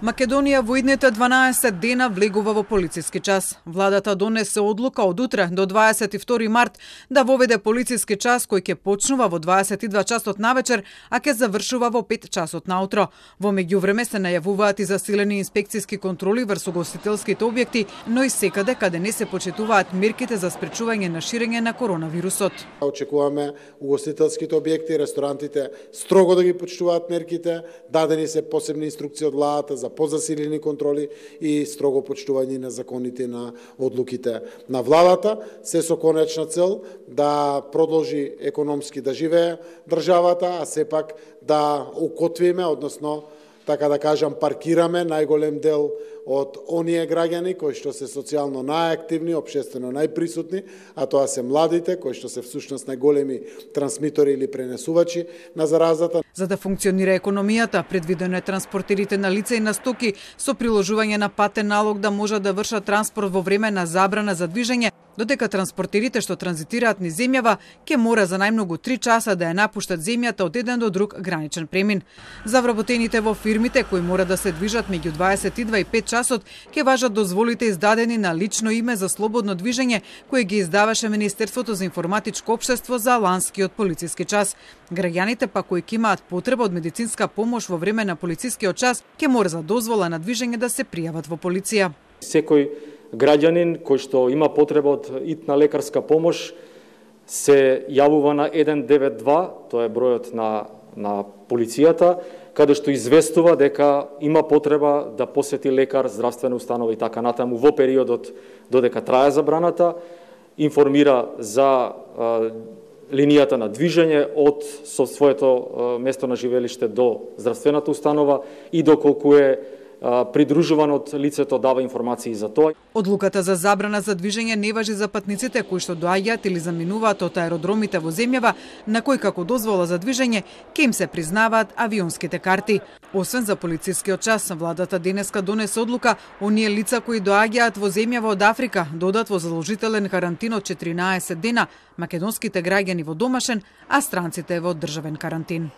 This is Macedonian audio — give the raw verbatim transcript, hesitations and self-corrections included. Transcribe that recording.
Македонија во идните дванаесет дена влегува во полициски час. Владата донесе одлука од утре до дваесет и втори март да воведе полициски час кој ќе почнува во дваесет и два часот навечер, а ќе завршува во пет часот наутро. Во меѓувреме се најавуваат и засилени инспекциски контроли врз угостителските објекти, но и секаде каде не се почитуваат мерките за спречување на ширење на коронавирусот. Очекуваме угостителските објекти, ресторантите строго да ги почитуваат мерките, дадени се посебни инструкции од владата за позасилени контроли и строго почитување на законите на одлуките на владата, се со конечна цел да продолжи економски да живее државата, а сепак да укотвиме, односно така да кажам, паркираме најголем дел од оние граѓани кои што се социјално најактивни, општествено најприсутни, а тоа се младите, кои што се всушност најголеми трансмитори или пренесувачи на заразата. За да функционира економијата, предвидено е транспортерите на лица и на стоки со приложување на патен налог да можат да вршат транспорт во време на забрана за движење, додека транспортерите што транзитираат низ земјава ќе мора за најмногу три часа да ја напуштат земјата од еден до друг граничен премин. За вработените во фирмите кои мора да се движат меѓу дваесет и два и пет часот ќе важат дозволите издадени на лично име за слободно движење кои ги издаваше Министерството за информатичко општество за ланскиот полициски час. Граѓаните па кои ќе имаат потреба од медицинска помош во време на полицискиот час ќе мора за дозвола на движење да се пријават во полиција. Секој граѓанин кој што има потреба од итна лекарска помош се јавува на еден девет два, тоа е бројот на на полицијата, каде што известува дека има потреба да посети лекар, здравствена установа и така натаму во периодот додека трае забраната, информира за а, линијата на движење од со своето а, место на живелиште до здравствената установа и доколку е придружуван од лицето дава информации за тоа. Одлуката за забрана за движење не важи за патниците кои што доаѓаат или заминуваат од аеродромите во земјава на кои како дозвола за движење ќе им се признаваат авионските карти. Освен за полицискиот час, владата денеска донесе одлука оние лица кои доаѓаат во земјава од Африка додат во задолжителен карантин од четиринаесет дена, македонските граѓани во домашен, а странците во државен карантин.